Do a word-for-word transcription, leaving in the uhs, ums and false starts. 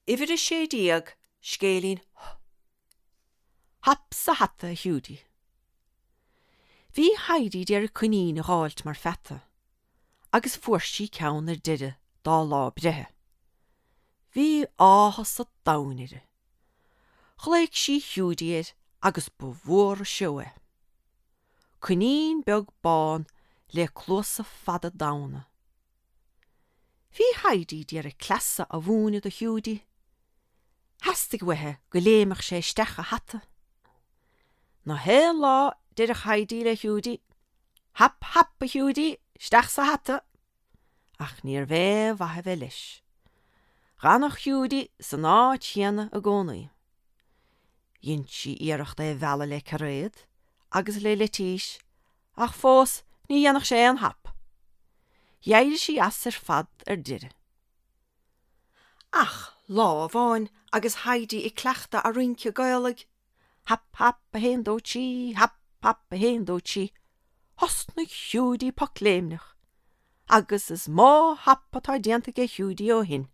Uimhir a sé déag, Scéilín H. Hap sa hata, a Hiúdaí. Bhí Heidi d'iarraidh coinín a dh'fháilt mar pheata, agus fuair sí ceann ar deireadh dá lá breithe. Bhí áthas an domhain uirthi. Ghlaoigh sí Hiúdaí air agus ba mhór an seó é. Coinín beag bán le cluasa fada donn. Bhí Heidi d'iarraidh cleasa a mhúineadh do Hiúdaí. Theastaigh uaithi go léimfeadh sé isteach a hata. Na haon lá deireadh Heidi le Hiúdaí, Hap hap a Hiúdaí, isteach sa hata! Ach níorbh aon mhaith a bheith leis. D'fhanadh Hiúdaí san áit chéanna i gcónaí. Dhein sí iarracht é a mhealladh le cairéad agus le leitís, ach fós ní dhéanfadh sé aon hap. D'éirigh sí as ar fad ar deireadh. Ach lá amháin agus Heidi ag cleachtadh a rince Gaelaigh, hap hap a haon dó trí, hap hap a haon dó trí, thosnaigh Hiúdaí pocléimneach, agus is mó hap atá déanta ag Hiúdaí ó shin.